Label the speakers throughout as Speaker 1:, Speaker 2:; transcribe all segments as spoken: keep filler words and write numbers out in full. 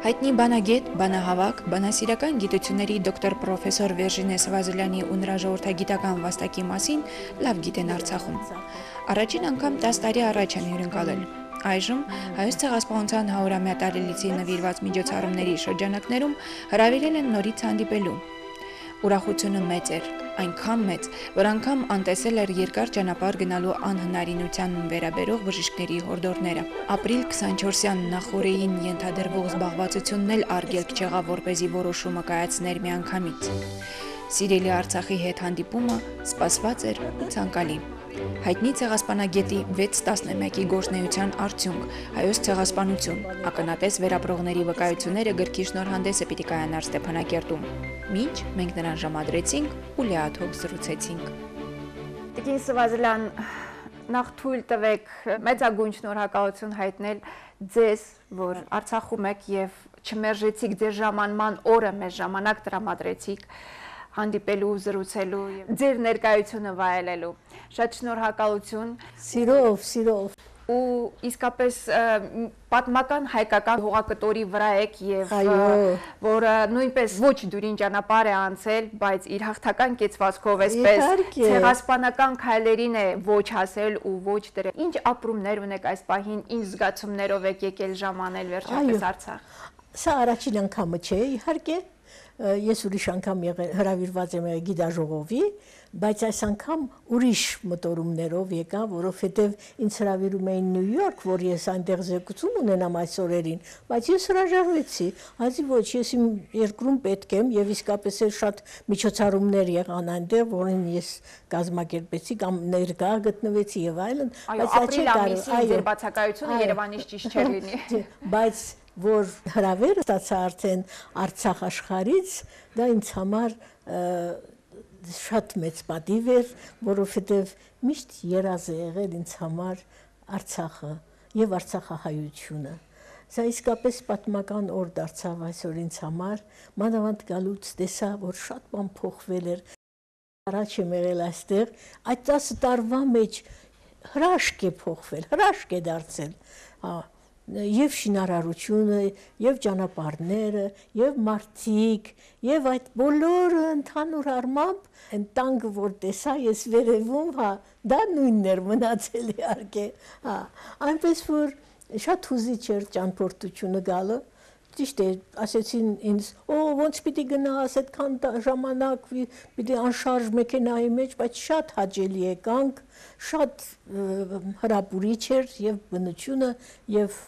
Speaker 1: Հայտնի բանագետ, բանահավաք, բանասիրական գիտությունների դոկտոր պրոֆեսոր Վերժինե Սվազելյանի ու նրա ժողովրդագիտական վաստակի մասին լավ գիտեն Արցախում։ Առաջին անգամ տասը տարի առաջ են հյուրընկալել։ Այժմ Հայոց ցեղասպանության հարյուրամյա տարելիցի նվիրված միջոցառումների շրջանակներում հրավիրել են նորից հանդիպելու։ Ուրախությունը մեծ էր, այնքան մեծ, որ անգամ անտեսել էր երկար ճանապարհ գնալու անհնարինության վերաբերող բժիշկների հորդորները։ Ապրիլ քսանչորսյան նախօրեին ենթադրվող զբաղվածությունն էլ արգելք չեղավ, որպեսզի որոշումը կայացներ միանգամից։ Սիրելի Արցախի հետ հանդիպումը սպասված էր ու ցանկալի։ Հայտնի ցեղասպանագետի վեց տասնամյակի գործունեության արդյունք, հայոց ցեղասպանություն, ականատես վերապրողների վկայությունները գրքի շնորհանդեսը պիտի կայանար Ստեփանակերտում։ Մինչ մենք նրան ժամադրեցինք ու լիաթոք զրուցեցինք։
Speaker 2: Տիկին Սվազելյան, նախ թույլ տվեք մեծագույն շնորհակալություն հայտնել ձեզ, որ Արցախում եք եւ չմերժեցիք ձեր ժամանման օրը մեզ ժամանակ տրամադրեցիք հանդիպելու, զրուցելու, ձեր ներկայությունը վայելելու։ Շատ շնորհակալություն։
Speaker 3: Սիրով, սիրով։
Speaker 2: Ու իսկապես պատմական հայկական հողակտորի վրա եք եւ որը նույնպես ոչ դուրին ճանապարհ է անցել, բայց իր հաղթական կեցվածքով էսպես ցեղասպանական քայլերին է ոչ հասել ու ոչ դրել։ Ինչ ապրումներ ունեք այս պահին, ինչ զգացումներով եք եկել ժամանել վերջապես Արցախ։
Speaker 3: Սա առաջին անգամը չէ, իհարկե։ Ես ուրիշ անգամ հրավիրված եմ գիտաժողովի, բայց այս անգամ ուրիշ մտորումներով եկա, որովհետև ինձ հրավիրում էին Նյու Յորք, որ ես այնտեղ զեկուցում ունենամ այս օրերին, բայց ես հրաժարվեցի, ասի ոչ, ես իմ երկրում պետք եմ եւ իսկապես էլ շատ միջոցառումներ եղան այնտեղ, որին ես կազմակերպեցի կամ ներկա գտնվեցի եւ այլն,
Speaker 2: բայց ապրիլ ամիսին ձեր բացակայությունը Երևանից ճիշտ չէր լինի։
Speaker 3: Բայց որ հրավերը ստացա արդեն Արցախ աշխարհից, դա ինձ համար շատ մեծ պատիվ էր, որովհետև միշտ երազ է եղել ինձ համար Արցախը եւ արցախահայությունը։ Սա իսկապես պատմական օր դարձավ այսօր ինձ համար, մանավանդ գալուց տեսա, որ շատ բան փոխվել էր։ Առաջ եմ եղել այստեղ, այդ տասը տարվա մեջ հրաշք է փոխվել, հրաշք է դարձել։ Եվ շինարարությունը, եւ ճանապարհները, եւ մարդիկ, եւ այդ բոլորը ընդհանուր առմամբ այն տանգը, որ տեսա ես վերևում, հա, դա նույնն էր մնացել իհարկե, հա, այնպես որ շատ հուզիչ էր ճանապարհությունը գալը, ճիշտ է, ասեցին ինձ, օ, ոնց պիտի գնաս, այդքան ժամանակ պիտի անշարժ մեքենայի մեջ, բայց շատ հաճելի եկանք, շատ հրապուրիչ էր եւ բնությունը եւ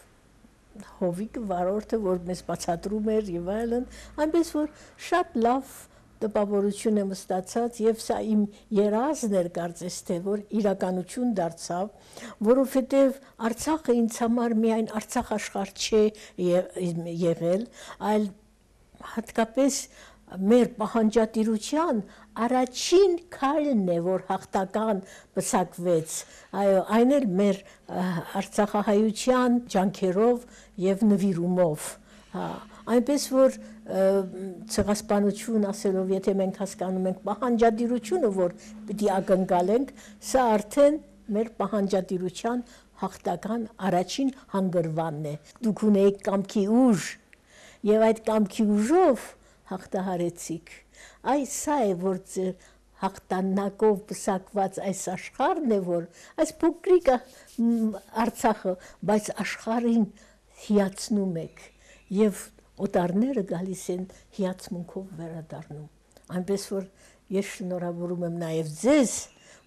Speaker 3: հովիկը վարորդը, որ մեզ բացատրում էր եւ այլն, այնպես որ շատ լավ տպավորություն եմ ստացած եւ սա իմ երազն էր կարծես թե որ իրականություն դարձավ, որովհետեւ Արցախը ինձ համար միայն Արցախ աշխարհ չէ եղել, այլ հատկապես մեր պահանջատիրության առաջին քայլն է, որ հաղթական պսակվեց, այո, այն էլ մեր արցախահայության ջանքերով եւ նվիրումով, հա, այնպես որ ցեղասպանություն ասելով, եթե մենք հասկանում ենք պահանջատիրությունը, որ պիտի ակնկալենք, սա արդեն մեր պահանջատիրության հաղթական առաջին հանգրվանն է։ Դուք ունեիք կամքի ուժ եւ այդ կամքի ուժով հաղթահարեցիք։ Այս սա է, որ ձեր հաղթանակով պսակված այս աշխարհն է, որ այս փոքրիկ Արցախը, բայց աշխարհին հիացնում եք եւ օտարները գալիս են հիացմունքով վերադառնում։ Այնպես որ ես շնորհավորում եմ նաեւ ձեզ,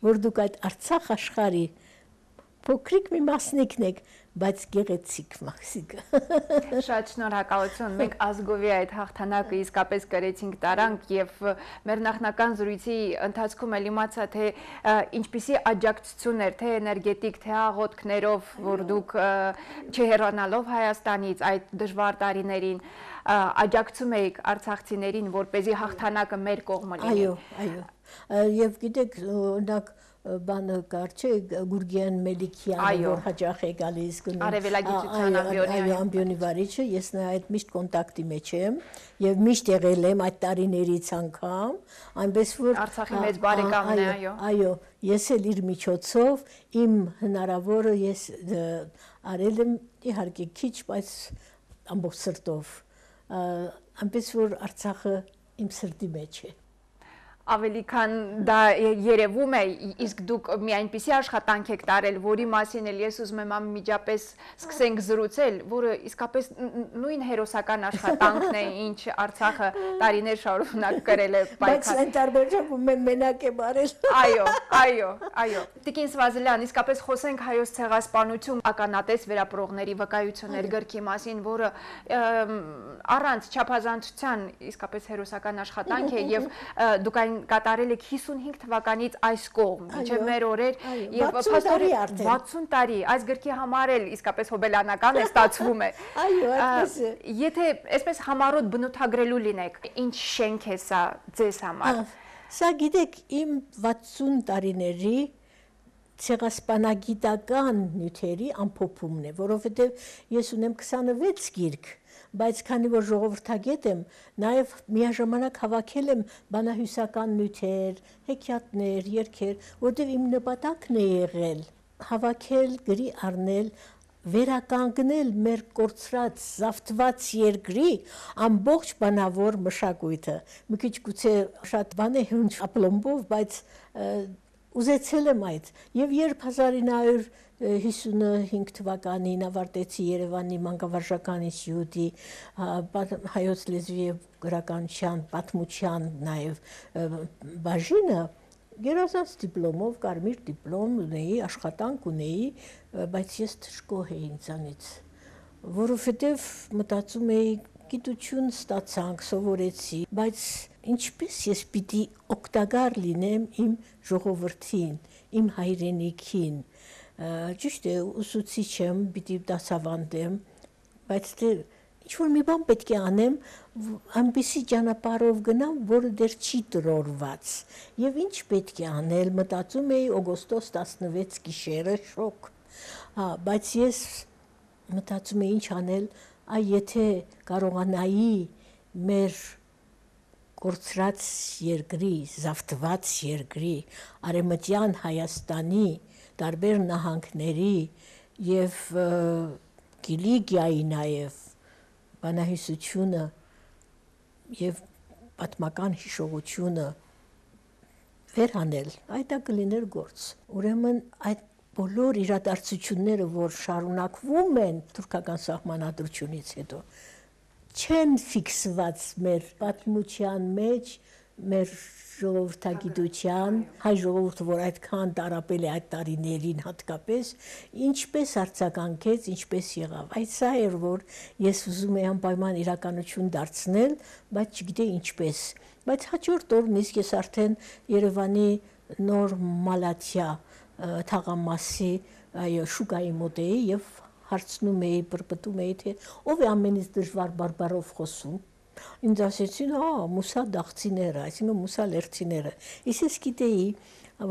Speaker 3: որ դուք այդ Արցախ աշխարհի փոքրիկ մի մասնիկն եք, բայց գեղեցիկ մասիկը։
Speaker 2: Շատ շնորհակալություն։ Մենք ազգովի այդ հաղթանակը իսկապես կրեցինք տարանք եւ մեր նախնական զրույցի ընթացքում էլ իմացա, թե ինչպիսի աջակցություն էր, թե էներգետիկ, թե աղոթքներով, որ դուք չհեռանալով Հայաստանից այդ դժվար տարիներին աջակցում եք արցախցիներին, որպեսզի հաղթանակը մեր կողմը լինի։
Speaker 3: Այո, այո։ Եվ գիտեք, օրինակ բանը կար չէ Գուրգեն Մելիքյանը, որ հաճախ է գալիս գնում
Speaker 2: արևելագիտության
Speaker 3: ամբիոնի վարիչը, ես նա այդ միշտ կոնտակտի մեջ եմ եւ միշտ եղել եմ այդ տարիներից անգամ, այնպես որ
Speaker 2: Արցախի մեծ բարեկամն է, այո։
Speaker 3: Այո, ես էլ իր միջոցով իմ հնարավորը ես արել եմ իհարկե քիչ, բայց ամբողջ սրտով այնպես որ Արցախը իմ սրտի մեջ է։
Speaker 2: Ավելի քան դա երևում է, իսկ դուք մի այնպիսի աշխատանք եք տարել, որի մասին էլ ես ուզում եմ անմիջապես սկսենք զրուցել, որը իսկապես նույն հերոսական աշխատանքն է, ինչ Արցախը տարիներ շարունակ կրել է պայքար։
Speaker 3: Բայց այն տարբերակում եմ մենակ եմ արել։
Speaker 2: Այո, այո, այո։ Տիկին Սվազելյան, իսկապես խոսենք Հայոց ցեղասպանություն ականատես վերապրողների վկայություններ գրքի մասին, որը առանց չափազանցության իսկապես հերոսական աշխատանք է եւ դուք այն կատարել եք հիսունհինգ թվականից այս կողմ, մինչև մեր օրեր եւ վաթսուն տարի, այս գրքի համար էլ իսկապես հոբելյանական է ստացվում է։
Speaker 3: Այո, այդպես է։
Speaker 2: Եթե այսպես համառոտ բնութագրելու լինեք, ինչ շենք է սա ձեզ համար։
Speaker 3: Սա գիտեք, իմ վաթսուն տարիների ցեղասպանագիտական նյութերի ամփոփումն է, որովհետեւ ես ունեմ քսանվեց գիրք, բայց քանի որ ժողովրդագետ եմ, նաև միաժամանակ հավաքել եմ բանահյուսական նյութեր, հեքիաթներ, երգեր, որտեղ իմ նպատակն է եղել հավաքել, գրի առնել, վերականգնել մեր կորցրած, զավթված երկրի ամբողջ բանավոր մշակույթը։ Մի քիչ գուցե շատ բան է հունչ ապլոմբով, բայց ուզեցել եմ այդ։ Եվ երբ հազար ինը հարյուր հիսունհինգ թվականին ավարտեցի Երևանի մանկավարժական ինստիտուտի հայոց լեզվի եւ գրականության, պատմության նաեւ բաժինը, գերազանց դիպլոմով, կարմիր դիպլոմ ունեի, աշխատանք ունեի, բայց ես թշկող էի ինձանից, որովհետեւ մտածում էի գիտություն ստացանք, սովորեցի, բայց ինչպես ես պիտի օգտակար լինեմ իմ ժողովրդին, իմ հայրենիքին։ Ճիշտ է, ուսուցիչ եմ, պիտի դասավանդեմ, բայց դե ինչ-որ մի բան պետք է անեմ, այնպիսի ճանապարհով գնամ, որը դեռ չի տրորված։ Եվ ինչ պետք է անել, մտածում էի օգոստոս տասնվեց գիշերը, շոկ։ Հա, բայց ես մտածում էի ինչ անել, այ եթե կարողանայի մեր կորցրած երկրի, զավթված երկրի, արևմտյան Հայաստանի տարբեր նահանգների եւ Կիլիկիայի նաեւ բանահյուսությունը եւ պատմական հիշողությունը վերանել, այդ դա կլիներ գործ։ Ուրեմն այդ բոլոր իրադարձությունները, որ շարունակվում են թուրքական սահմանադրությունից հետո, չեն ֆիքսված մեր պատմության մեջ, մեր ժողովրդագիտության, հայ ժողովուրդը, որ այդքան տարապել է այդ տարիներին հատկապես, ինչպես արձագանքեց, ինչպես եղավ։ Այդ սա էր, որ ես ուզում էի անպայման իրականություն դարձնել, բայց չգիտեի ինչպես։ Բայց հաջորդ օրն իսկ ես արդեն Երևանի նոր Մալաթիա թաղամասի այո շուկայի մոտ էի եւ հարցնում էի, բրբտում էի, թե ով է ամենից դժվար բարբարով խոսում։ Ինձ ասեցին, հա, մուսա դաղցիները, այսինքն մուսա լերցիները։ Ես ես գիտեի,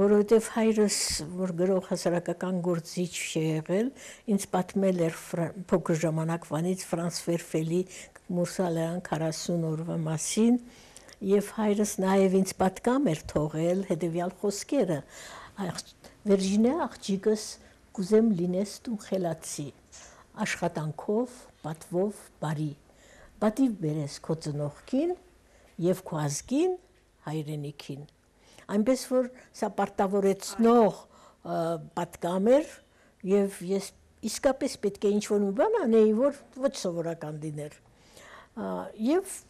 Speaker 3: որովհետև հայրս, որ գրող հասարակական գործիչ է եղել, ինձ պատմել էր փոքր ժամանակվանից Ֆրանս Վերֆելի Մուսալյան քառասուն օրվա մասին, եւ հայրս նաեւ ինձ պատկամ էր թողել հետեւյալ խոսքերը. Վերջինե աղջիկս կուզեմ լինես դու խելացի, աշխատանքով, պատվով, բարի, պատիվ բերես քո ծնողքին եւ քո ազգին, հայրենիքին։ Այնպես որ սա պարտավորեցնող պատկամ էր եւ ես իսկապես պետք է ինչ-որ մի բան անեի, որ ոչ սովորական լիներ։ Եվ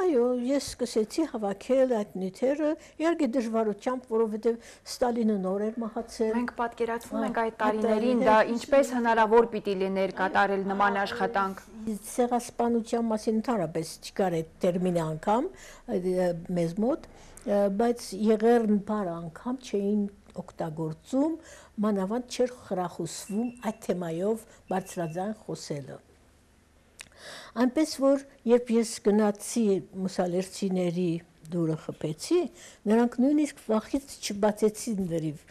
Speaker 3: այո, ես սկսեցի հավաքել այդ նյութերը, իհարկե դժվարությամբ, որովհետև Ստալինը նոր էր մահացել։
Speaker 2: Մենք պատկերացնում ենք այդ տարիներին, դա ինչպես հնարավոր պիտի լիներ կատարել նման աշխատանք։
Speaker 3: Ցեղասպանության մասին ընդհանրապես չկար այդ տերմինը անգամ մեզ մոտ, բայց եղերն բառ անգամ չէին օգտագործում, մանավանդ չէր խրախուսվում այդ թեմայով բարձրաձայն խոսելը։ Այնպես որ երբ ես գնացի մուսալերցիների դուրը խփեցի, նրանք նույնիսկ վախից չբացեցին լրիվ։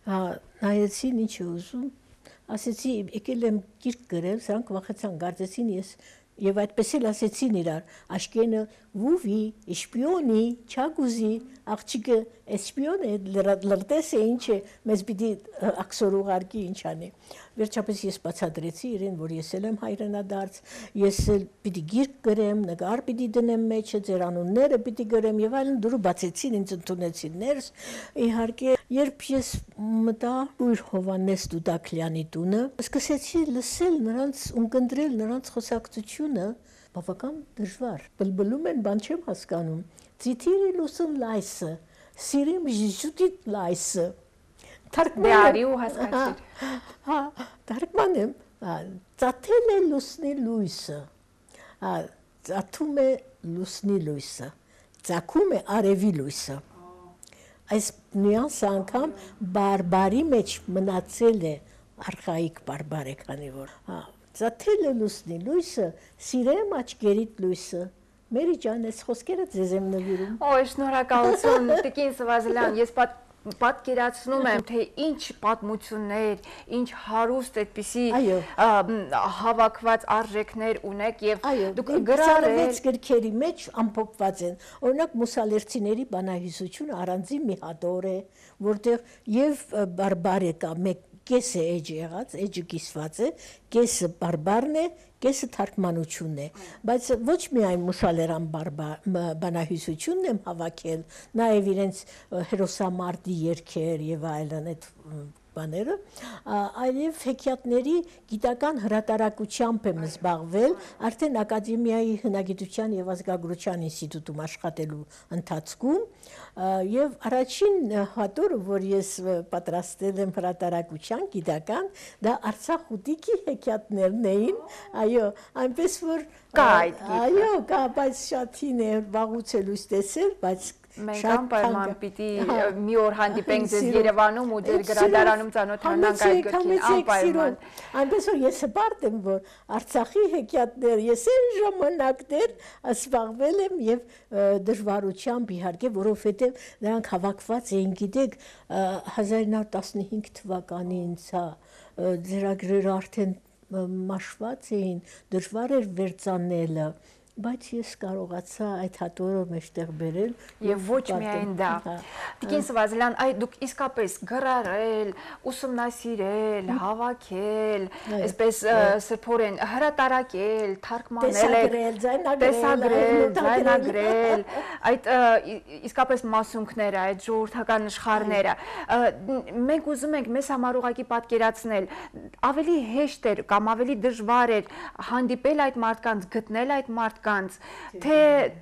Speaker 3: Նայեցին ինչ է ուզում, ասեցի եկել եմ գիրք գրել, սրանք վախեցան, կարծեցին ես եւ այդպես էլ ասեցին իրար, աշկենը վուվի, շպիոնի, չագուզի, աղջիկը շպիոն է, լրտես է ինչ է, մեզ պիտի աքսոր ուղարկի ինչ անի։ Վերջապես ես բացատրեցի իրեն, որ ես էլ եմ հայրենադարձ, ես էլ պիտի գիրք գրեմ, նկար պիտի դնեմ մեջը, ձեր անունները պիտի գրեմ եւ այլն, դուրը բացեցին, ինձ ընդունեցին ներս։ Իհարկե, երբ ես մտա Ույր Հովանես Դուդակլյանի տունը, սկսեցի լսել նրանց, ունկնդրել նրանց խոսակցությունը, բավական դժվար։ Բլբլում են, բան չեմ հասկանում։ Ձիթիրի լուսն լայսը, սիրիմ ժիժուտիտ լայսը։
Speaker 2: Դարի ու հասկացիր։
Speaker 3: Հա, թարգմանեմ, ծաթել է լուսնի լույսը, ծաթում է լուսնի լույսը, ծագում է արևի լույսը։ Այս նյուանսը անգամ բարբարի մեջ մնացել է, արխայիկ բարբար է, քանի որ։ Ծաթել է լուսնի լույսը, սիրեմ աչքերիդ լույսը։ Մերի ջան, այս խոսքերը ձեզ եմ նվիրում։
Speaker 2: Օ, շնորհակալություն, Տիկին Սվազելյան, ես պատ պատկերացնում եմ, թե ինչ պատմություններ, ինչ հարուստ այդպիսի հավաքված արժեքներ ունեք եւ դուք գրառել
Speaker 3: վեց գրքերի մեջ ամփոփված են։ Օրինակ մուսալերցիների բանահյուսությունը առանձին մի հատոր է, որտեղ եւ բարբար է կա մեկ կեսը էջ եղած, էջը կիսված է, կեսը բարբարն է, կեսը թարգմանությունն է, բայց ոչ միայն մուսալերան բանահյուսությունն եմ հավաքել, նաև իրենց հերոսամարտի երգեր եւ այլն այդ բաները, այլև հեքիաթների գիտական հրատարակությամբ եմ զբաղվել, արդեն Ակադեմիայի հնագիտության եւ ազգագրության ինստիտուտում աշխատելու ընթացքում եւ առաջին հատորը, որ ես պատրաստել եմ հրատարակության գիտական, դա Արցախ ուտիկի հեքիաթներն էին, այո, այնպես որ
Speaker 2: կա այդ գիրքը։
Speaker 3: Այո, կա, բայց շատ հին է, վաղուց է լույս տեսել, բայց
Speaker 2: մենք անպայման պիտի մի օր հանդիպենք ձեզ Երևանում ու ձեր գրադարանում ծանոթանանք այդ գրքին, անպայման։
Speaker 3: Այնպես որ ես հպարտ եմ, որ Արցախի հեքիաթներ, ես այն ժամանակներ զբաղվել եմ եւ դժվարությամբ իհարկե, որովհետեւ նրանք հավաքված էին, գիտեք, հազար նոր տասնհինգ թվականին, սա ձեռագրերը արդեն մաշված էին, դժվար էր վերծանելը, բայց ես կարողացա այդ հատորը մեջտեղ բերել
Speaker 2: եւ ոչ միայն դա։ Տիկին Սվազելյան, այ դուք իսկապես գրառել, ուսումնասիրել, հավաքել, այսպես սրբորեն հրատարակել, թարգմանել,
Speaker 3: տեսագրել,
Speaker 2: ձայնագրել, այդ իսկապես մասունքները, այդ ժողովրդական աշխարհները։ Մենք ուզում ենք մեզ համար ուղղակի պատկերացնել, ավելի հեշտ էր կամ ավելի դժվար էր հանդիպել այդ մարդկանց, գտնել այդ մարդ թե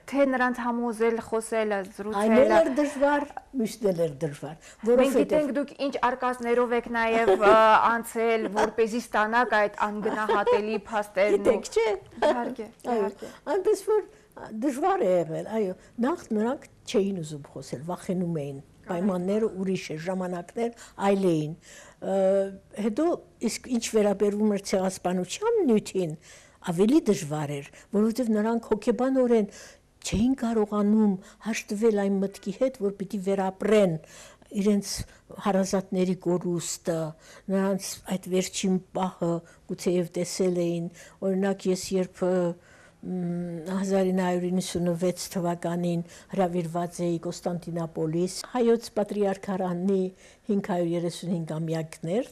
Speaker 2: թե նրանց համոզել, խոսելը, զրուցելը։
Speaker 3: Այն էր դժվար, միշտ էր դժվար,
Speaker 2: որովհետև մենք գիտենք դուք ինչ արկածներով եք նաև անցել, որպեսզի ստանաք այդ անգնահատելի փաստերն։
Speaker 3: Գիտեք, չէ։
Speaker 2: Իհարկե, իհարկե։
Speaker 3: Այնպես որ դժվար է եղել, այո, նախ նրանք չէին ուզում խոսել, վախենում էին, պայմանները ուրիշ է, ժամանակներ այլ էին։ Հետո իսկ ինչ վերաբերում էր ցեղասպանության նյութին, ավելի դժվար էր, որովհետև նրանք հոգեբանորեն չէին կարողանում հաշտվել այն մտքի հետ, որ պիտի վերապրեն իրենց հարազատների կորուստը, նրանց այդ վերջին պահը գուցեև տեսել էին, օրինակ ես երբ հազար ինը հարյուր իննսունվեց թվականին հրավիրված էի Կոստանդինապոլիս, հայոց պատրիարքարանի հինգ հարյուր երեսունհինգամյակներ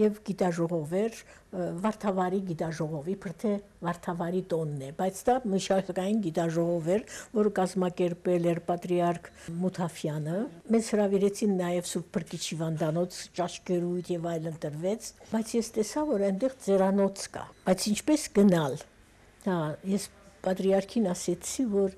Speaker 3: եւ գիտաժողովեր, Վարդավառի գիտաժողովի, իբր թե Վարդավառի տոնն է, բայց դա մշակային գիտաժողով էր, որը կազմակերպել էր պատրիարք Մութաֆյանը։ Մեզ հրավիրեցին նաեւ Սուրբ Փրկիչ Հիվանդանոց, ճաշկերույթ եւ այլն տրվեց, բայց ես տեսա, որ այնտեղ ձերանոց կա, բայց ինչպես գնալ։ Հա, ես պատրիարքին ասեցի, որ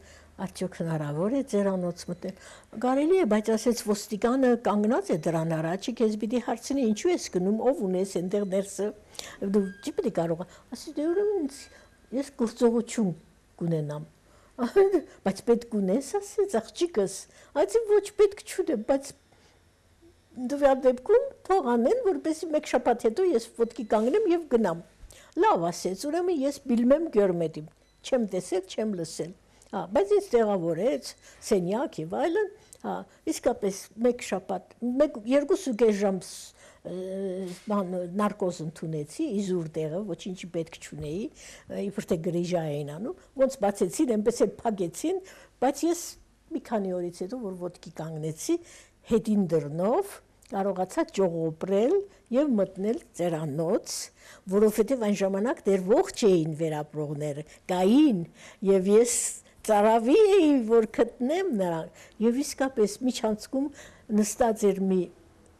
Speaker 3: արդյոք հնարավոր է ձերանոց մտնել։ Կարելի է, բայց ասեց ոստիկանը կանգնած է դրան առաջ, քեզ պիտի հարցնի ինչու ես գնում, ով ունես այնտեղ ներսը։ Դու չի պիտի կարող։ Ասի դե ուրեմն ես գործողություն կունենամ։ Բայց պետք ունես, ասեց աղջիկս։ Այսի ոչ պետք չունեմ, բայց դու դեպքում թող անեն, որպեսզի մեկ շաբաթ հետո ես ոտքի կանգնեմ եւ գնամ։ Լավ ասեց, ուրեմն ես բիլմեմ գյորմետիմ, չեմ տեսել, չեմ լսել։ Հա, բայց ինձ տեղավորեց, սենյակ եւ այլն, հա, իսկապես մեկ շաբաթ, մեկ երկուսուկես ժամ նարկոզ ընդունեցի, իզուր տեղը, ոչինչ պետք չունեի, իբր թե գրիժա էին անում, ոնց բացեցին, այնպես էլ փակեցին, բայց ես մի քանի օրից հետո որ ոտքի կանգնեցի, հետին դռնով կարողացա ճողոպրել եւ մտնել ծերանոց, որովհետեւ այն ժամանակ դեռ ողջ էին վերապրողները, կային եւ ես ծարավի էի, որ գտնեմ նրան եւ իսկապես միջանցքում նստած էր մի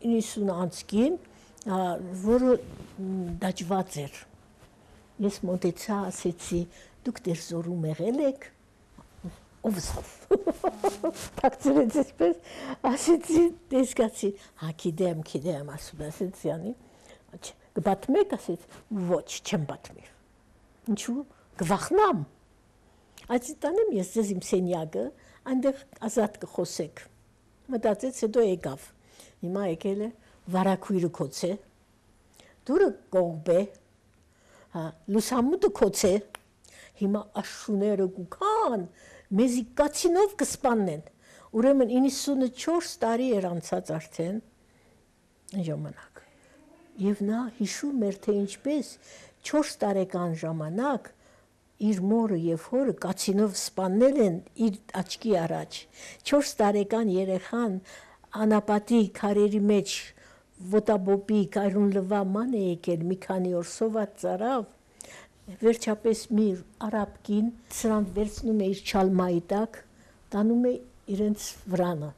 Speaker 3: իննսուն անցքին, որը դաջված էր։ Ես մոտեցա, ասեցի, դուք դեռ զորում եղել եք, ով սավ, թակցրեց այսպես, ասեցի, տեսկացի, հա գիտեմ, գիտեմ, ասում ասեցի անի, կբատմեք, ասեց, ոչ, չեմ բատմիր, ինչու, կվախնամ, այսի տանեմ ես ձեզ իմ սենյակը, այնտեղ ազատ կխոսեք, մտածեց, հետո եկավ, հիմա եկել է, վարակույրը կոց է, դուրը կողբ է, լուսամուտը կոց է, հիմա աշուները կուքան, մեզի կացինով կսպաննեն, ուրեմն իննսունչորս տարի էր անցած արդեն ժամանակ, և նա հիշում էր, թե ինչպես չորս տարեկան ժամանակ իր մորը և հորը կացինով սպաննել են իր աչքի առաջ, չորս տարեկան երեխան անապատի քարերի մեջ ոտաբոբի կայրուն լվա ման է եկել, մի քանի օր սոված ծարավ, վերջապես մի արաբ կին սրան վերցնում է իր չալմայի տակ, տանում է իրենց վրանը,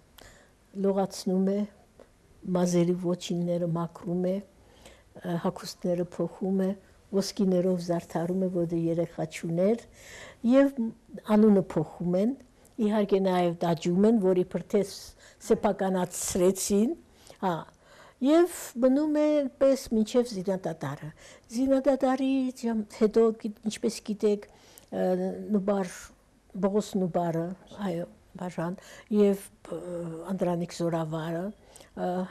Speaker 3: լողացնում է, մազերի ոչինները մաքրում է, հագուստները փոխում է, ոսկիներով զարդարում է, որ երեխա չուներ եւ անունը փոխում են, իհարկե նաեւ դաջում են, որ իբր թե սեփականացրեցին, հա Եվ մնում է պես մինչև զինադատարը։ Զինադատարից հետո, ինչպես գիտեք, Նուբար, Բողոս Նուբարը, այո, բաժան, և Անդրանիկ Զորավարը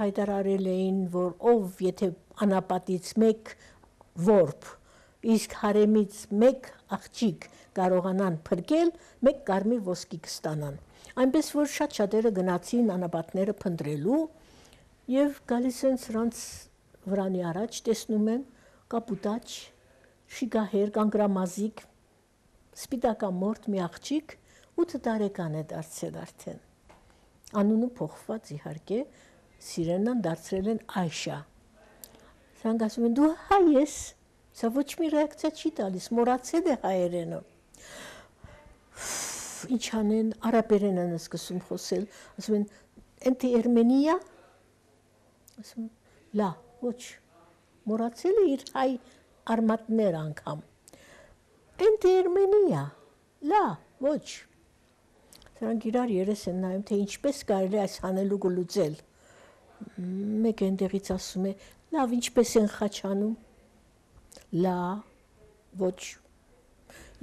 Speaker 3: հայտարարել էին, որ ով եթե անապատից մեկ որբ, իսկ հարեմից մեկ աղջիկ կարողանան փրկել, մեկ կարմիր ոսկի կստանան։ Այնպես որ շատ շատերը գնացին անապատները փնտրելու, Եվ գալիս են սրանց վրանի առաջ, տեսնում են կապուտաչ, շիգահեր, կանգրամազիկ, սպիտակամորդ մի աղջիկ, ութ տարեկան է դարձել արդեն։ Անունը փոխված իհարկե, Սիրենան դարձրել են Այշա։ Սրանք ասում են, դու հայ ես, սա ոչ մի ռեակցիա չի տալիս, մոռացել է հայերենը։ Ինչ անեն, արաբերեն են սկսում խոսել, ասում են, «Ընտի Էրմենիա» ասում, լա, ոչ, մոռացել է իր հայ արմատներ անգամ, ընտի Էրմենիա, լա, ոչ, սրանք իրար երես են նայում, թե ինչպես կարելի այս հանելուկը լուծել, մեկ այնտեղից ասում է, լավ, ինչպես են խաչանում, լա, ոչ,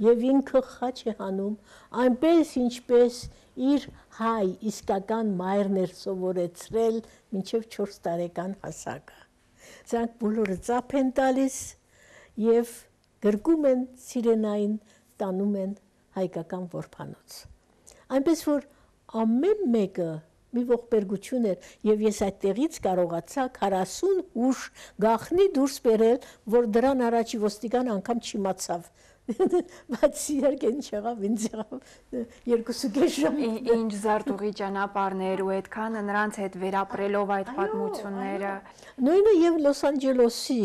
Speaker 3: և ինքը խաչ է հանում, այնպես ինչպես իր հայ իսկական մայրն էր սովորեցրել մինչև չորս տարեկան հասակը։ Սրանք բոլորը ծափ են տալիս և գրկում են Սիրենային, տանում են հայկական որբանոց։ Այնպես որ ամեն մեկը մի ողբերգություն էր և ես այդտեղից կարողացա քառասուն հուշ գաղտնի դուրս բերել, որ դրան առաջի ոստիկան անգամ չիմացավ։ Բայց իհարկե ինչ եղավ, ինձ եղավ երկուսուկես ժամ։
Speaker 2: Ինչ զարտուղի ճանապարհներ ու այդքանը նրանց հետ վերապրելով այդ պատմությունները։
Speaker 3: Նույնը եւ Լոս Անջելեսի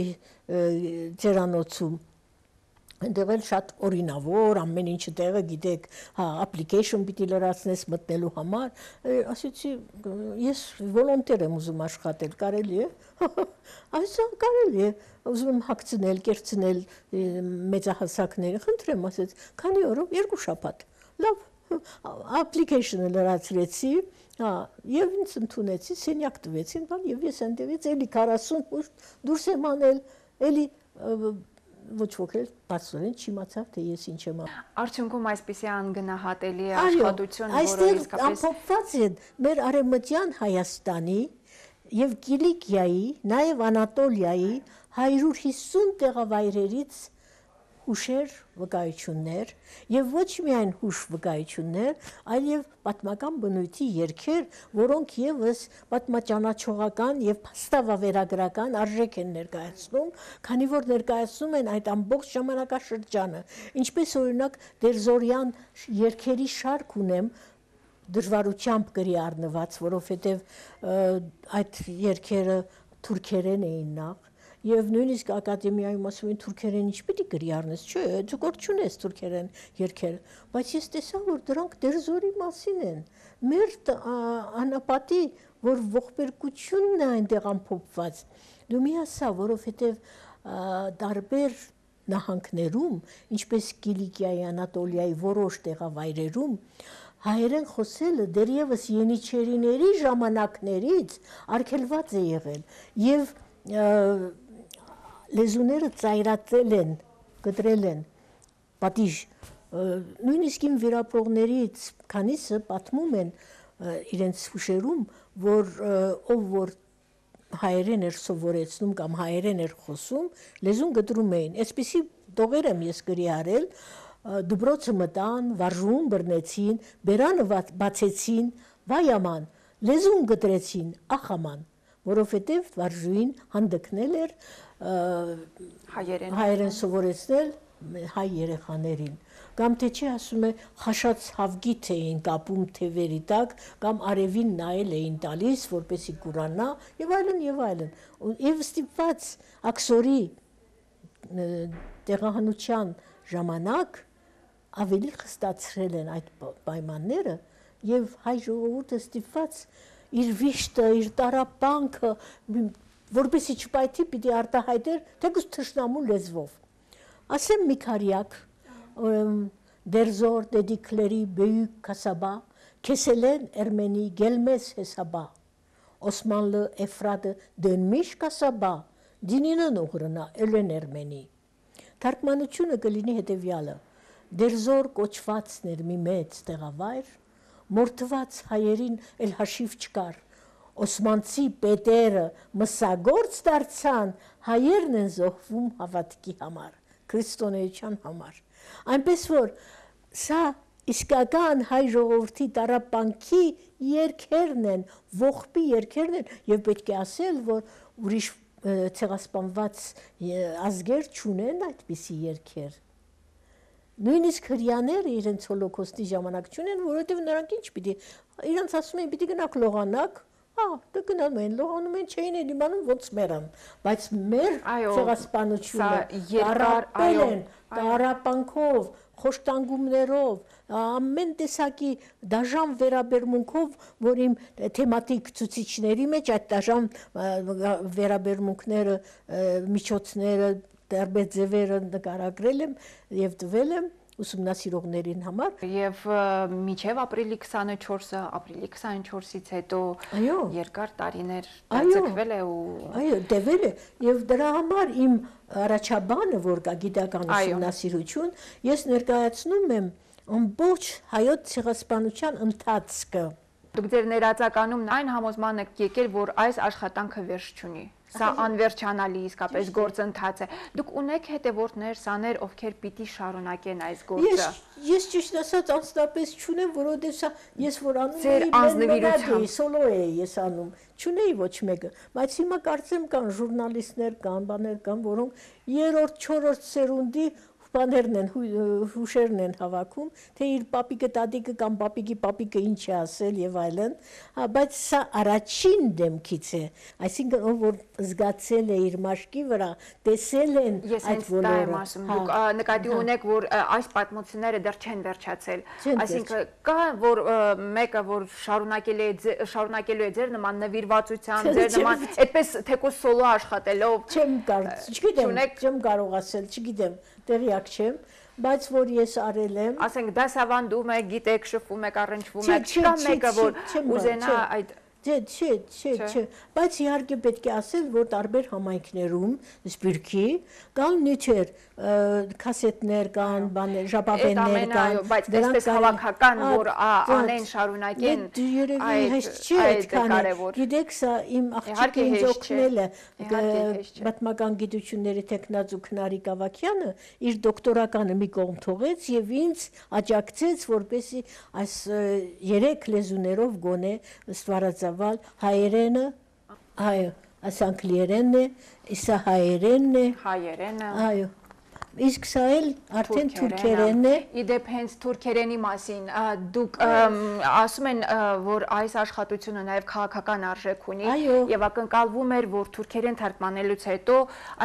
Speaker 3: ծերանոցում Այնտեղ էլ շատ օրինավոր, ամեն ինչը տեղը գիտեք, հա, application պիտի լրացնես մտնելու համար, ասեցի, ես վոլոնտեր եմ ուզում աշխատել, կարելի է, այսա կարելի է, ուզում եմ հագցնել, կերցնել մեծահասակները, խնդրեմ, ասեց, քանի օրով, երկու շաբաթ, լավ, application-ը լրացրեցի, հա, եւ ինձ ընդունեցի, սենյակ տվեցին, բան, եւ ես այնտեղից էլի քառասուն դուրս եմ անել, էլի ոչ ոք էլ բացորեն չիմացավ, թե ես ինչ եմ անում։
Speaker 2: Արդյունքում այսպիսի անգնահատելի աշխատություն, որը
Speaker 3: այստեղ
Speaker 2: իսկապես
Speaker 3: ամփոփված են մեր արևմտյան Հայաստանի եւ Կիլիկիայի, նաեւ Անատոլիայի հարյուր հիսուն տեղավայրերից հուշեր, վկայություններ եւ ոչ միայն հուշ վկայություններ, այլև պատմական բնույթի երգեր, որոնք եւս պատմաճանաչողական եւ փաստավավերագրական արժեք են ներկայացնում, քանի որ ներկայացնում են այդ ամբողջ ժամանակաշրջանը, ինչպես օրինակ Դերզորյան երգերի շարք ունեմ, դժվարությամբ գրի առնված, որովհետև այդ երգերը թուրքերեն էին նախ, եւ նույնիսկ ակադեմիայում ասում են թուրքերեն ինչ պիտի գրի առնես, չէ, ձգոր չունես թուրքերեն երգերը, բայց ես տեսա, որ դրանք դերձորի մասին են, մեր անապատի, որ ողբերգությունն է այնտեղ ամփոփված, դու մի ասա, որովհետև տարբեր նահանգներում, ինչպես Կիլիկիայի, Անատոլիայի որոշ տեղավայրերում, հայերեն խոսելը դեռևս Ենիչերիների ժամանակներից արգելված է եղել եւ լեզուները ծայրացել են, կտրել են պատիժ, նույնիսկ իմ վիրապրողներից քանիսը պատմում են իրենց հուշերում, որ ով որ հայերեն էր սովորեցնում կամ հայերեն էր խոսում, լեզուն գտրում էին, այսպիսի տողեր եմ ես գրի արել, դպրոցը մտան, վարժուն բռնեցին, բերանը բացեցին, վայ աման, լեզուն գտրեցին, ախ աման, որովհետև վարժուին հանդգնել էր հայերեն սովորեցնել հայ երեխաներին, կամ թե չի ասում է խաշած հավգիթ էին կապում թևերի տակ, կամ արևին նայել էին տալիս, որպեսի կուրանա, եւ այլն եւ այլն, եւ ստիպված աքսորի տեղահանության ժամանակ ավելի խստացրել են այդ պայմանները եւ հայ ժողովուրդը ստիպված իր վիշտը, իր տարապանքը, որպեսի չպայթի պիտի արտահայտեր թեկուզ թշնամու լեզվով։ Ասեմ մի քարյակ, դերձոր, դեդիկլերի, բեյուկ, կասաբա, կեսելեն էրմենի, գելմես հեսաբա, Օսմանլը, էֆրադը, դենմիշ կասաբա, դինինն ուղրնա, էլեն էրմենի։ Թարգմանությունը կլինի հետևյալը, դերձոր կոչվածներ մի մեծ տեղավայր, մորթված հայերին էլ հաշիվ չկար, Օսմանցի պետերը մսագործ դարձան, հայերն են զոհվում հավատքի համար, քրիստոնեության համար։ Այնպես որ սա իսկական հայ ժողովրդի տառապանքի երգերն են, ողբի երգերն են, եւ պետք է ասել, որ ուրիշ ցեղասպանված ազգեր չունեն այդպիսի երգեր։ Նույնիսկ հրյաները իրենց հոլոկոստի ժամանակ չունեն, որովհետև նրանք ինչ պիտի, իրենց ասում են պիտի գնաք լողանաք, հա, դե գնանում են, լողանում են, չէին էլ իմանում ոնց մեռան, բայց մեր ցեղասպանությունը տարապել են, տարապանքով, խոշտանգումներով, ամեն տեսակի դաժան վերաբերմունքով, որ իմ թեմատիկ ցուցիչների մեջ այդ դաժան վերաբերմունքները, միջոցները, տարբեր ձևերը նկարագրել եմ եւ տվել եմ ուսումնասիրողներին համար
Speaker 2: եւ մինչեւ ապրիլի քսանչորսը, ապրիլի քսանչորսից հետո երկար տարիներ ձգվել է ու
Speaker 3: այո, տևել է եւ դրա համար իմ առաջաբանը, որ կա գիտական ուսումնասիրություն, ես ներկայացնում եմ ամբողջ հայոց ցեղասպանության ընթացքը։
Speaker 2: Դուք ձեր ներածականում այն համոզման եք եկել, որ այս աշխատանքը վերջ չունի։ Սա անվերջանալի իսկապես գործընթաց է։ Դուք ունեք հետևորդներ, սաներ, ովքեր պիտի շարունակեն այս գործը։
Speaker 3: Ես ճիշտ ասած անձնապես չունեմ, որովհետև սա ես որ անում եմ, սոլո էի ես անում, չունեի ոչ մեկը, բայց հիմա կարծեմ կան ժուրնալիստներ, կան բաներ կան, որոնք երրորդ, չորրորդ սերունդի բաներն են, հուշերն են հավաքում, թե իր պապիկը, տատիկը կամ պապիկի պապիկը ինչ է ասել եւ այլն, բայց սա առաջին դեմքից է, այսինքն ով որ զգացել է իր մաշկի վրա, տեսել են այդ բոլորը։
Speaker 2: Դուք նկատի ունեք, որ այս պատմությունները դեռ չեն վերջացել, այսինքն կա որ մեկը որ շարունակել է շարունակելու է ձեր նման նվիրվածության, ձեր նման այդպես թեկուզ սոլո աշխատելով։
Speaker 3: Չեմ կարող, չգիտեմ, չեմ կարող ասել, չգիտեմ, տեղյակ չեմ, բայց որ ես արել եմ։
Speaker 2: Ասենք դասավանդում եք, գիտեք, շփվում եք, առնչվում եք, չկա մեկը որ ուզենա այդ
Speaker 3: Չէ, չէ, չէ, չէ, բայց իհարկե պետք է ասել, որ տարբեր համայնքներում, սպիրկի, կան նյութեր, կասետներ կան, բաներ, ժապավեններ կան,
Speaker 2: բայց այսպես հավաքական, որ անեն շարունակեն,
Speaker 3: այդ կարևոր։ Գիտեք, սա իմ աղջիկը ինձ օգնել է, պատմական գիտությունների տեխնացու Քնարիկ Ավագյանը իր դոկտորականը մի կողմ թողեց եւ ինձ աջակցեց, որպեսզի այս երեք լեզուներով գոնե ստվարածավալ հայերենը, այո, այս անգլիերենն է, իսա հայերենն է,
Speaker 2: հայերենը,
Speaker 3: այո, Իսկ սա էլ արդեն թուրքերենն է։
Speaker 2: Իդեպ հենց թուրքերենի մասին դուք ասում են, որ այս աշխատությունը նաև քաղաքական արժեք ունի եւ ակնկալվում էր, որ թուրքերեն թարգմանելուց հետո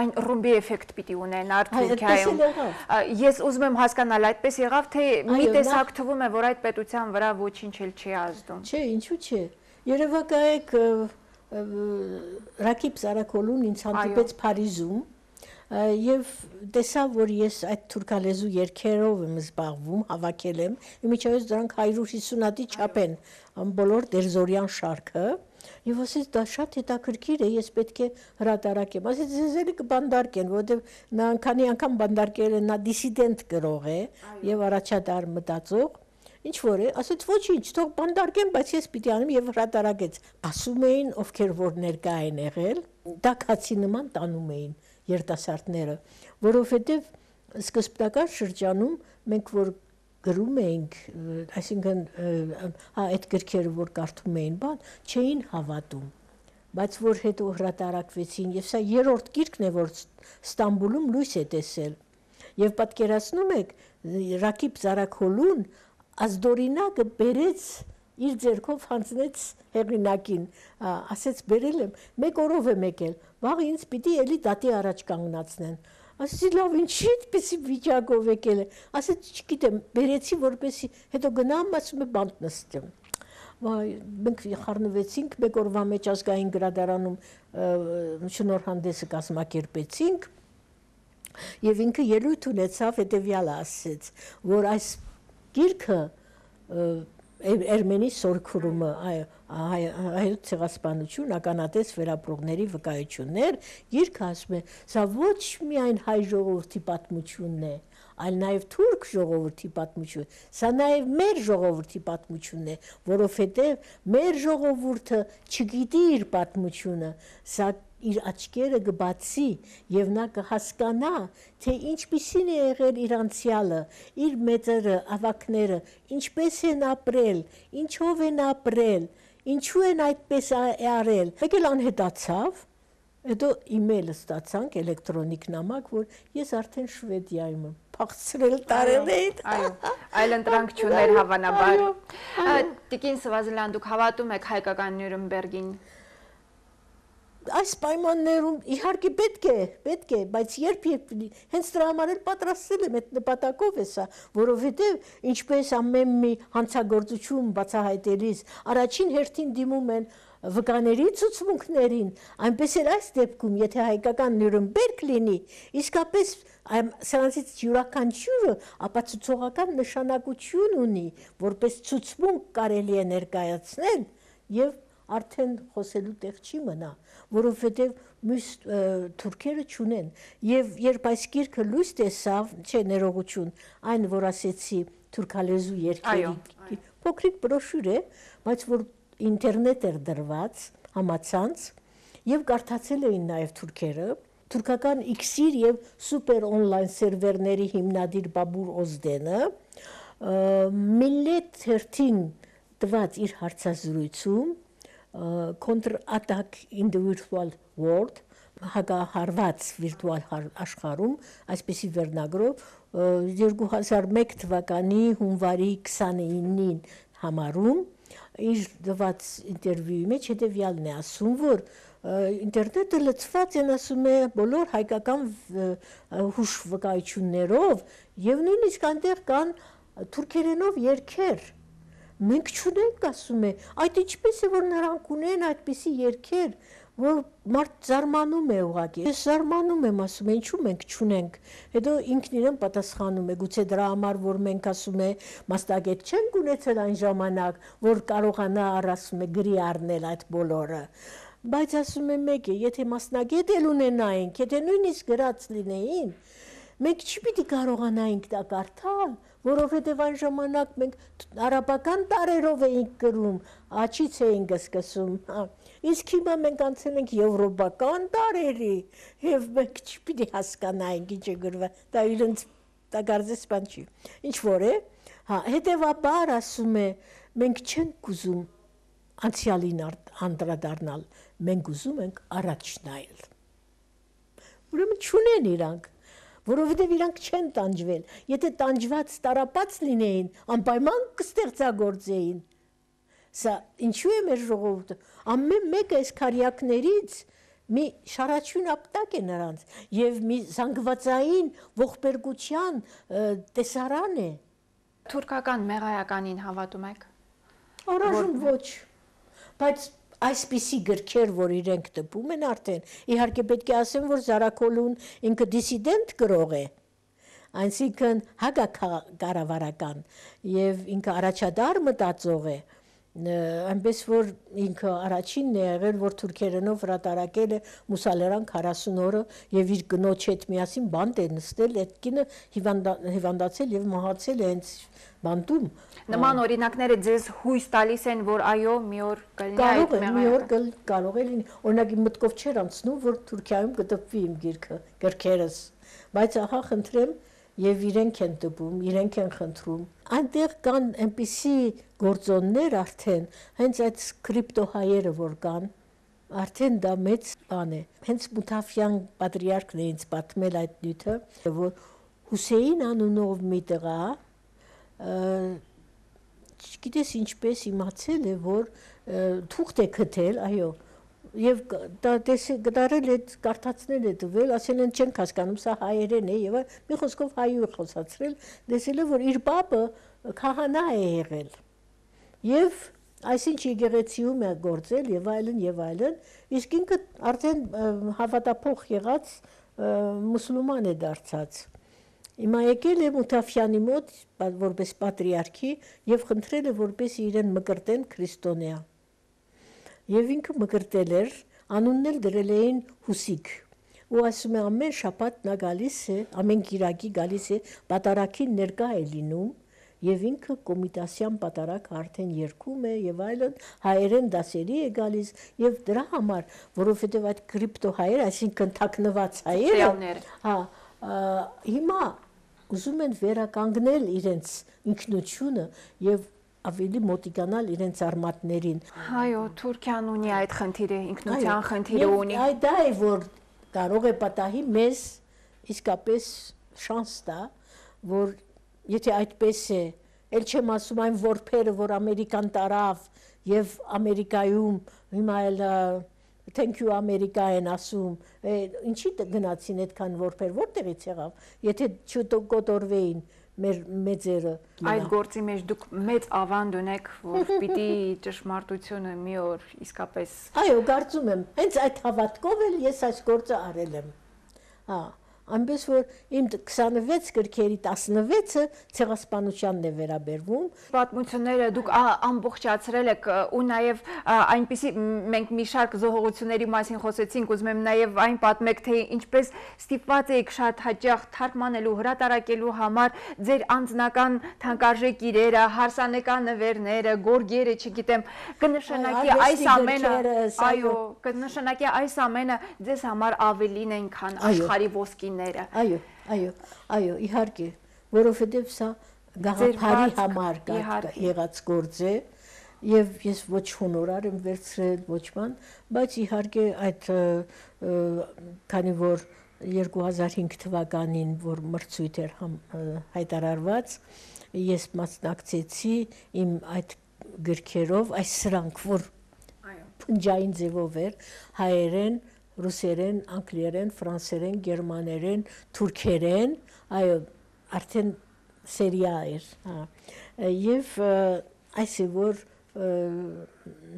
Speaker 2: այն ռումբի էֆեկտ պիտի ունենար Թուրքիայում։ Ես ուզում եմ հասկանալ, այդպես եղավ, թե մի տեսակ թվում է, որ այդ պետության վրա ոչինչ էլ չի ազդում։
Speaker 3: Չէ, ինչու՞ չէ։ Երևակայեք Ռակիբ Զարաքոլուն ինձ հանդիպեց Փարիզում եւ տեսա, որ ես այդ թուրքալեզու երգերով եմ զբաղվում, հավաքել եմ, իմիջիայլոց դրանք հարյուր հիսուն հատի չափ են, բոլոր դերզորյան շարքը, եւ ասեց դա շատ հետաքրքիր է, ես պետք է հրատարակեմ։ Ասեց ձեզ էլի կբանդարկեն, որովհետեւ նա անկանի անգամ բանդարկել են, նա դիսիդենտ գրող է եւ առաջադար մտածող։ Ինչ որ է, ասեց ոչինչ, թող բանդարկեն, բայց ես պիտի անեմ եւ հրատարակեց։ Ասում էին, ովքեր որ ներկա են եղել, դա քացի նման տանում էին երիտասարդները, որովհետև սկզբնական շրջանում մենք որ գրում էինք, այսինքն այդ գրքերը որ կարդում էին, բան, չէին հավատում, բայց որ հետո հրատարակվեցին, եւ սա երրորդ գիրքն է, որ Ստամբուլում լույս է տեսել, եւ պատկերացնում եք, Ռակիբ Զարաքոլուն ազդորինակը բերեց իր ձեռքով հանձնեց հեղինակին, ասեց բերել եմ, մեկ օրով եմ եկել, վաղ ինձ պիտի էլի դատի առաջ կանգնացնեն։ Ասեցի լավ, ինչի այդպեսի վիճակով եկել է։ Ասեց չգիտեմ, բերեցի որպեսի հետո գնամ, ասում է բանտ նստեմ։ Վայ, մենք խառնվեցինք, մեկ օրվա մեջ ազգային գրադարանում շնորհանդեսը կազմակերպեցինք, եւ ինքը ելույթ ունեցավ, հետեւյալը ասեց, որ այս գիրքը Էրմենի սորքուրումը, հայոց ցեղասպանություն, ականատես վերապրողների վկայություններ, գիրքը ասում է, սա ոչ միայն հայ ժողովրդի պատմությունն է, այլ նաև թուրք ժողովրդի պատմություն, սա նաև մեր ժողովրդի պատմությունն է, որովհետև մեր ժողովուրդը չգիտի իր պատմությունը, սա իր աչքերը կբացի եւ նա կհասկանա, թե ինչպիսին է եղել իր անցյալը, իր մեծերը, ավակները, ինչպես են ապրել, ինչով են ապրել, ինչու են այդպես արել։ Մեկ էլ անհետացավ, հետո իմեյլ ստացանք, էլեկտրոնիկ նամակ, որ ես արդեն Շվեդիայում եմ, փախցրել տարել էի։
Speaker 2: Այո, այլ ընտրանք չուներ հավանաբար։ Տիկին Սվազիլյան, դուք հավատում եք հայկական Նյուրնբերգին։
Speaker 3: Այս պայմաններում իհարկե պետք է, պետք է, բայց երբ երբ հենց դրա համար էլ պատրաստել եմ այդ նպատակով է սա, որովհետև ինչպես ամեն մի հանցագործություն բացահայտելիս առաջին հերթին դիմում են վկաների ցուցմունքներին, այնպես էլ այս դեպքում, եթե հայկական Նյուրնբերգ լինի, իսկապես սրանցից յուրաքանչյուրը ապացուցողական նշանակություն ունի, որպես ցուցմունք կարելի է ներկայացնել եւ արդեն խոսելու տեղ չի մնա, որովհետև մյուս թուրքերը չունեն։ Եվ երբ այս գիրքը լույս տեսավ, չէ, ներողություն, այն որ ասեցի թուրքալեզու երգերի, փոքրիկ բրոշյուր է, բայց որ ինտերնետ էր դրված, համացանց, եւ կարդացել էին նաեւ թուրքերը, թուրքական իքսիր եւ սուպեր օնլայն սերվերների հիմնադիր Բաբուր Օզդենը Millet թերթին տված իր հարցազրույցում Counter-Attack in the Virtual World, հակահարված վիրտուալ աշխարհում, այսպեսի վերնագրով երկու հազար մեկ թվականի հունվարի քսանինին համարում իր դված ինտերվյուի մեջ հետևյալն է ասում, որ ինտերնետը լցված են, ասում է, բոլոր հայկական հուշվկայություններով եւ նույնիսկ այնտեղ կան թուրքերենով երգեր։ Մենք չունենք, ասում է, այդ ինչպես է, որ նրանք ունեն այդպիսի երգեր, որ մարդ զարմանում է ուղղակի։ Ես զարմանում եմ, ասում է, ինչու մենք չունենք։ Հետո ինքն իրեն պատասխանում է, գուցե դրա համար, որ մենք, ասում է, մասնագետ չենք ունեցել այն ժամանակ, որ կարողանա առ, ասում է, գրի առնել այդ բոլորը։ Բայց ասում է մեկ է, եթե մասնագետ էլ ունենայինք, եթե նույնիսկ գրած լինեին, մենք չպիտի կարողանայինք դա կարդալ, որովհետև այն ժամանակ մենք արաբական տարերով էինք գրում, աչից էինք սկսում, իսկ հիմա մենք անցել ենք եվրոպական տարերի, եւ մենք չպիտի հասկանայինք ինչ է գրված, դա իրենց դա կարծես բան չի։ Ինչ որ է, հա, հետեւաբար ասում է, մենք չենք ուզում անցյալին անդրադառնալ, մենք ուզում ենք առաջ նայել։ Ուրեմն չունեն իրանք, որովհետև իրանք չեն տանջվել։ Եթե տանջված տարապած լինեին, անպայման կստեղծագործեին։ Սա ինչու է մեր ժողովուրդը։ Ամեն մեկը այս քարյակներից մի շարաչյուն ապտակ է նրանց եւ մի զանգվածային ողբերգության տեսարան է։
Speaker 2: Թուրքական մեղայականին հավատում եք։
Speaker 3: Առայժմ ոչ։ Բայց այսպիսի գրքեր, որ իրենք տպում են արդեն, իհարկե պետք է ասեմ, որ Զարաքոլուն ինքը դիսիդենտ գրող է, այսինքն հակակառավարական եւ ինքը առաջադար մտածող է, այնպես որ ինքը առաջինն է եղել, որ թուրքերենով հրատարակել է Մուսալերան քառասուն օրը եւ իր կնոջ հետ միասին բանտ է նստել, այդ կինը հիվանդացել եւ մահացել է հենց բանտում։
Speaker 2: Նման օրինակները ձեզ հույս տալիս են, որ այո, մի օր կլինի այդ
Speaker 3: մեղայական։ Մի օր կարող է լինի, օրինակ մտքով չէր անցնում, որ Թուրքիայում կտպվի իմ գիրքը, գրքերս, բայց ահա խնդրեմ, եւ իրենք են տպում, իրենք են խնդրում։ Այնտեղ կան այնպիսի գործոններ արդեն, հենց այդ կրիպտոհայերը որ կան, արդեն դա մեծ բան է։ Հենց Մութաֆյան պատրիարքն է ինձ պատմել այդ նյութը, որ Հուսեին անունով մի տղա, չգիտես ինչպես իմացել է, որ թուղթ է գտել, այո, եւ դա գտարել է, կարդացնել է տվել, ասել են չենք հասկանում, սա հայերեն է եւ մի խոսքով հայու է խոսացրել, տեսել է, որ իր բաբը քահանա է եղել։ Եվ այսինչ եկեղեցիում է գործել եւ այլն եւ այլն, իսկ ինքը արդեն հավատափող եղած մուսուլման է դարձած։ Հիմա եկել է Մութաֆյանի մոտ որպես պատրիարքի եւ խնդրել է որպես իրեն մկրտեն քրիստոնյա։ Եվ ինքը մկրտել էր, անունն էլ դրել էին Հուսիկ։ Ու ասում է ամեն շաբաթ նա գալիս է, ամեն կիրակի գալիս է, պատարագին ներկա է լինում, եւ ինքը կոմիտասյան պատարագ արդեն երգում է եւ այլն, հայերեն դասերի է գալիս եւ դրա համար, որովհետեւ այդ կրիպտոհայերը, այսինքն թաքնված հայերը, հա, հիմա ուզում են վերականգնել իրենց ինքնությունը եւ ավելի մոտիկանալ իրենց արմատներին։
Speaker 2: Այո, Թուրքիան ունի այդ խնդիրը, ինքնության խնդիրը ունի։
Speaker 3: Այդ դա է, որ կարող է պատահի մեզ իսկապես շանս տա, որ եթե այդպես է, ել չեմ ասում այն որբերը, որ Ամերիկան տարավ եւ Ամերիկայում հիմա էլ thank you Ամերիկա են ասում, ինչի գնացին այդքան որբեր, որտեղից եղավ, եթե չկոտորվեին մեր մեծերը։
Speaker 2: Այդ գործի մեջ դուք մեծ ավանդ ունեք, որ պիտի ճշմարտությունը մի օր իսկապես։
Speaker 3: Այո, կարծում եմ, հենց այդ հավատքով էլ ես այս գործը արել եմ։ Հա, այնպես որ իմ քսանվեց գրքերի տասնվեցը ցեղասպանությանն է վերաբերվում։
Speaker 2: Պատմությունները դուք ամբողջացրել եք ու նաև այնպիսի մենք մի շարք զոհողությունների մասին խոսեցինք, ուզում եմ նաև այն պատմեք, թե ինչպես ստիպված եք շատ հաճախ թարգմանելու, հրատարակելու համար ձեր անձնական թանկարժեք իրերը, հարսանեկան նվերները, գորգերը, չգիտեմ, կնշանակի այս ամենը, այո, կնշանակի այս ամենը ձեզ համար ավելին են, քան աշխարհի ոսկին։
Speaker 3: Այո, այո, այո, իհարկե, որովհետև սա գաղափարի համար եղած գործ է եւ ես ոչ հոնորար եմ վերցրել, ոչ բան, բայց իհարկե այդ քանի որ երկու հազար հինգ թվականին, որ մրցույթ էր հայտարարված, ես մասնակցեցի իմ այդ գրքերով, այս սրանք, որ փնջային ձևով էր, հայերեն, ռուսերեն, անգլերեն, ֆրանսերեն, գերմաներեն, թուրքերեն, այո, արդեն սերիա էր, հա։ Եվ այս է, որ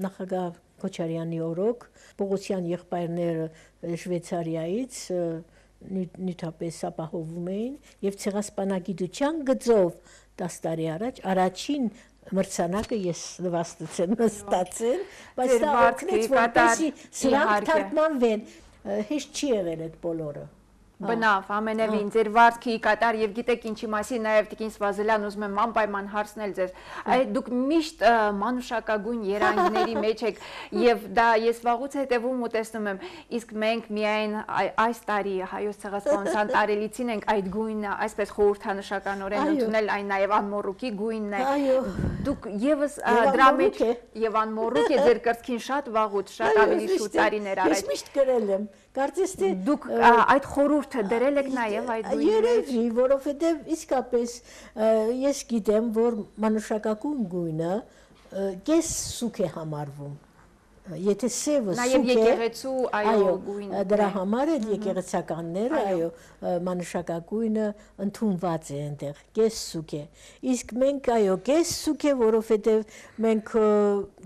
Speaker 3: նախագահ Քոչարյանի օրոք Պողոսյան եղբայրները Շվեյցարիայից նյութապես ապահովում էին եւ ցեղասպանագիտության գծով տասը տարի առաջ առաջին մրցանակը ես նվաստացել նստացել, բայց դա օգնեց, որպեսզի սրանք թարգմանվեն, հեշտ չի եղել այդ բոլորը։
Speaker 2: Բնավ, ամենևին, ձեր վարձքի կատար եւ գիտեք ինչի մասին նաեւ Տիկին Սվազելյան ուզում եմ անպայման հարցնել ձեզ։ Այդ դուք միշտ մանուշակագույն երանգների մեջ եք եւ դա ես վաղուց հետեւում ու տեսնում եմ, իսկ մենք միայն այս տարի հայոց ցեղասպանության տարելիցին ենք այդ գույնը այսպես խորհրդանշականորեն ընդունել, այն նաեւ անմոռուկի գույնն է։ Դուք եւս դրա մեջ եւ անմոռուկ է ձեր կրծքին շատ վաղուց, շատ ավելի շուտ տարիներ առաջ։
Speaker 3: Ես միշտ գրել եմ, կարծես թե
Speaker 2: դուք այդ խորհուրդ ժողովուրդը դրել եք նաև այդ գույնը։
Speaker 3: Երևի, որովհետև իսկապես ես գիտեմ, որ մանուշակագույն գույնը կես սուք է համարվում։ Եթե սևը սուք է,
Speaker 2: նաև եկեղեցու այո գույնը։
Speaker 3: Դրա համար էլ եկեղեցականները, այո, մանուշակագույնը ընդունված է այնտեղ, կես սուք է։ Իսկ մենք այո, կես սուք է, որովհետև մենք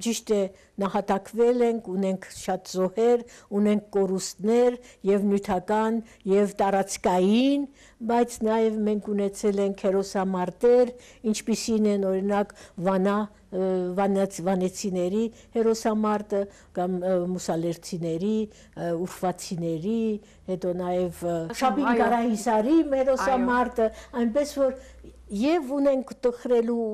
Speaker 3: ճիշտ է նահատակվել ենք, ունենք շատ զոհեր, ունենք կորուստներ եւ նյութական եւ տարածքային, բայց նաեւ մենք ունեցել ենք հերոսամարտեր, ինչպիսին են օրինակ Վանա վանեցիների հերոսամարտը կամ մուսալերցիների, ուրվացիների, հետո նաև Շաբին Գարահիսարի հերոսամարտը, այնպես որ եւ ունենք տխրելու,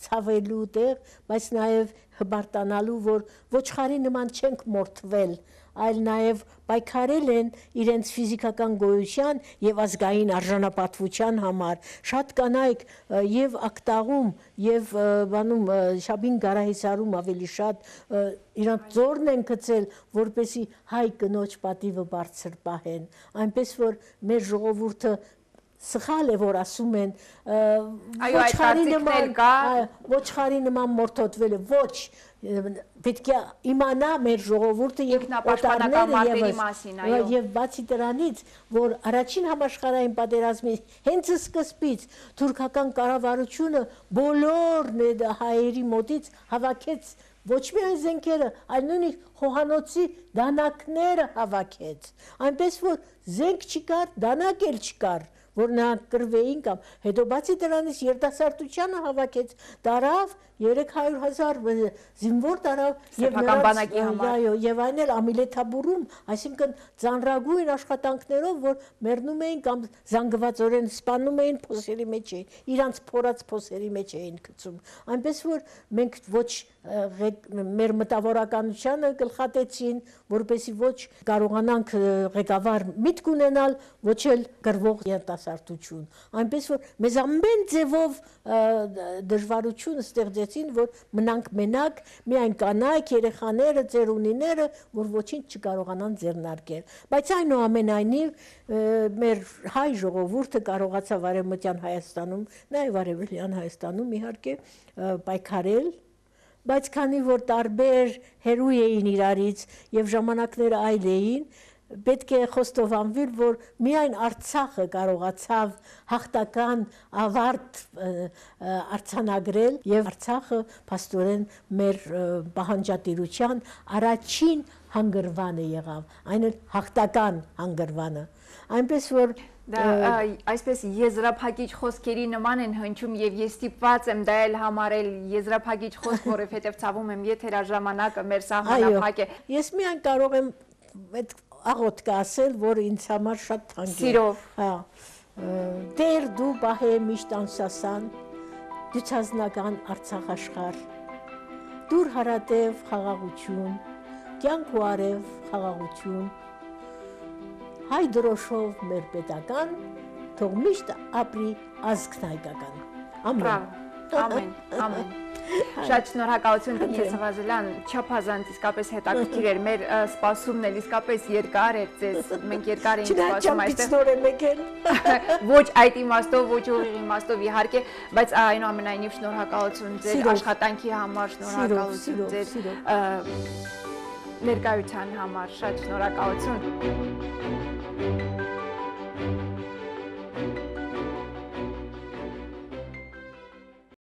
Speaker 3: ցավելու տեղ, բայց նաև հբարտանալու, որ ոչխարի նման չենք մորթվել, այլ նաև պայքարել են իրենց ֆիզիկական գոյության եւ ազգային արժանապատվության համար։ Շատ կանայք եւ Ակտաղում եւ բանում Շաբին Գարահիսարում ավելի շատ իրանք ձորն են գցել, որպեսի հայ կնոջ պատիվը բարձր պահեն, այնպես որ մեր ժողովուրդը սխալ է, որ ասում են ոչխարի նման ոչխարի նման մորթոտվել է, ոչ, պետք է իմանա մեր ժողովուրդը եւ
Speaker 2: օտարները եւ
Speaker 3: եւ բացի դրանից, որ առաջին համաշխարհային պատերազմի հենց սկզբից թուրքական կառավարությունը բոլոր հայերի մոտից հավաքեց ոչ միայն զենքերը, այլ նույնիսկ խոհանոցի դանակները հավաքեց, այնպես որ զենք չկար, դանակ էլ չկար, որ նրանք կռվեին կամ հետո բացի դրանից երիտասարդությանը հավաքեց, տարավ երեք հարյուր հազար զինվոր տարավ եւ այն էլ ամիլեթաբուրում, այսինքն ծանրագույն աշխատանքներով, որ մեռնում էին կամ զանգվածորեն սպանում էին, փոսերի մեջ էին, իրանց փորած փոսերի մեջ էին գցում, այնպես որ մենք ոչ մեր մտավորականությանը գլխատեցին, որպեսզի ոչ կարողանանք ղեկավար միտք ունենալ, ոչ էլ գրվող երիտասարդություն, այնպես որ մեզ ամեն ձևով դժվարություն ստեղծեցին, որ մնանք մենակ, միայն կանայք, երեխաները, ծերունիները, որ ոչինչ չկարողանան ձեռնարկել, բայց այնուամենայնիվ մեր հայ ժողովուրդը կարողացավ Արևմտյան Հայաստանում, նաև Արևելյան Հայաստանում իհարկե պայքարել, բայց քանի որ տարբեր հերույ էին իրարից եւ ժամանակները այլ էին, պետք է խոստովանվի, որ միայն Արցախը կարողացավ հաղթական ավարտ արձանագրել եւ Արցախը փաստորեն մեր պահանջատիրության առաջին հանգրվանը եղավ, այն էլ հաղթական հանգրվանը, այնպես որ
Speaker 2: Դա այսպես եզրափակիչ խոսքերի նման են հնչում եւ ես ստիպված եմ դա էլ համարել եզրափակիչ խոսք, որովհետեւ ցավում եմ եթերաժամանակը մեր սահմանափակ է։
Speaker 3: Ես միայն կարող եմ այդ աղոթքը ասել, որ ինձ համար շատ թանկ է։
Speaker 2: Սիրով։
Speaker 3: Հա։ Դեր դու բահե միշտ անսասան, դյուցազնական Արցախ աշխարհ։ Դուր հարատև խաղաղություն, կյանք ու արև խաղաղություն։ Հայ դրոշով մեր պետական, թող միշտ ապրի ազգն հայկական։ Ամեն։
Speaker 2: Ամեն, ամեն։ Շատ շնորհակալություն Տիկին Սվազելյան, չափազանց իսկապես հետաքրքիր էր, մեր սպասումն էլ իսկապես երկար էր ձեզ, մենք երկար էինք սպասում
Speaker 3: այստեղ։
Speaker 2: Ոչ այդ իմաստով, ոչ ուղիղ իմաստով իհարկե, բայց այնուամենայնիվ շնորհակալություն ձեր աշխատանքի համար, շնորհակալություն ձեր ներկայության համար, շատ շնորհակալություն։